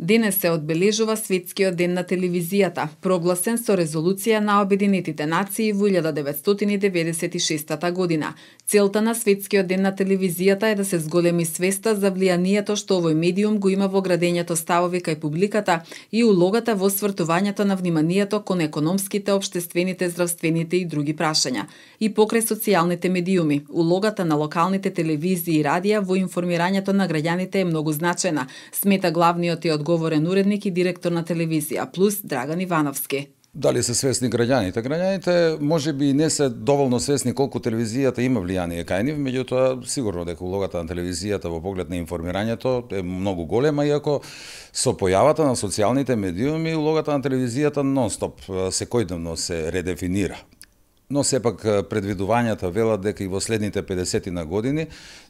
Денес се одбележува Светскиот ден на телевизијата, прогласен со резолуција на Обединетите нации во 1996 година. Целта на Светскиот ден на телевизијата е да се зголеми свеста за влијанието што овој медиум го има во градењето ставови кај публиката и улогата во свртувањето на вниманието кон економските, општествените, здравствените и други прашања. И покрај социјалните медиуми, улогата на локалните телевизии и радија во информирањето на граѓаните е многу значена, смета главниот и одговорен уредник и директор на телевизија Плюс Драган Ивановски. Дали се свесни граѓаните? Граѓаните можеби и не се доволно свесни колку телевизијата има влијание кај нив, меѓутоа сигурно дека улогата на телевизијата во поглед на информирањето е многу голема, иако со појавата на социјалните медиуми улогата на телевизијата нон-стоп секојдневно се редефинира. Но сепак предвидувањата велат дека и во следните 50 години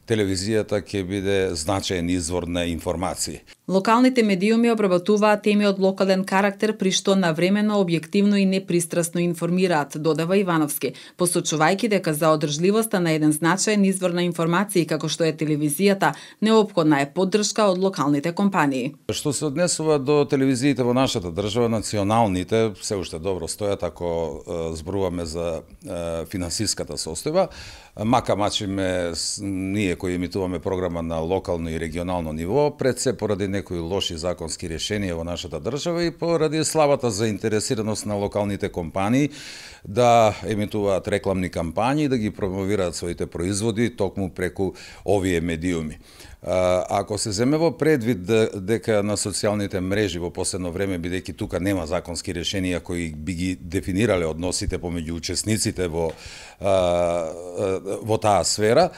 телевизијата ќе биде значаен извор на информации. Локалните медиуми обработуваат теми од локален карактер при што навремено, објективно и непристрасно информираат, додава Ивановски, посочувајќи дека за одржливоста на еден значаен извор на информации како што е телевизијата, неопходна е поддршка од локалните компании. Што се однесува до телевизиите во нашата држава, националните се уште добро стојат ако зборуваме за финансиската состојба, мака мачиме ние кои емитуваме програма на локално и регионално ниво, пред се поради некои лоши законски решенија во нашата држава и поради слабата заинтересираност на локалните компании да емитуваат рекламни кампањи и да ги промовираат своите производи токму преку овие медиуми. Ако се земе во предвид дека на социјалните мрежи во последно време, бидејќи тука нема законски решенија кои би ги дефинирале односите помеѓу учесниците во таа сфера,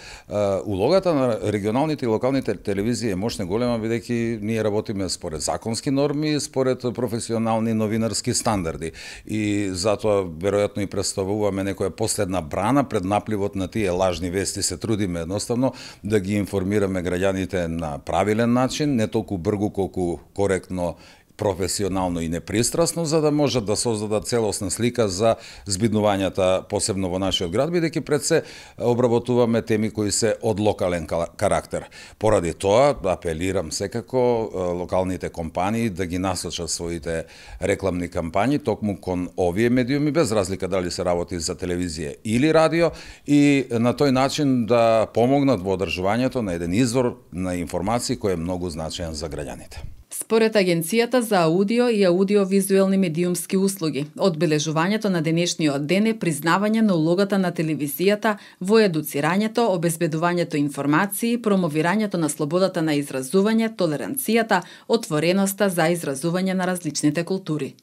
улогата на регионалните и локалните телевизии е мощна голема, бидејќи ние работиме според законски норми, според професионални новинарски стандарди. И затоа веројатно и представуваме некоја последна брана пред напливот на тие лажни вести. Се трудиме едноставно да ги информираме граѓаните на правилен начин, не толку бргу колку коректно, професионално и непристрасно, за да можат да создадат целосна слика за збиднувањата, посебно во нашиот град, бидејќи пред се обработуваме теми кои се од локален карактер. Поради тоа, апелирам секако локалните компании да ги насочат своите рекламни кампањи токму кон овие медиуми, без разлика дали се работи за телевизија или радио, и на тој начин да помогнат во одржувањето на еден извор на информации кој е многу значаен за граѓаните. Според Агенцијата за аудио и аудиовизуелни медиумски услуги, одбележувањето на денешниот ден е признавање на улогата на телевизијата во едуцирањето, обезбедувањето информации, промовирањето на слободата на изразување, толеранцијата, отвореноста за изразување на различните култури.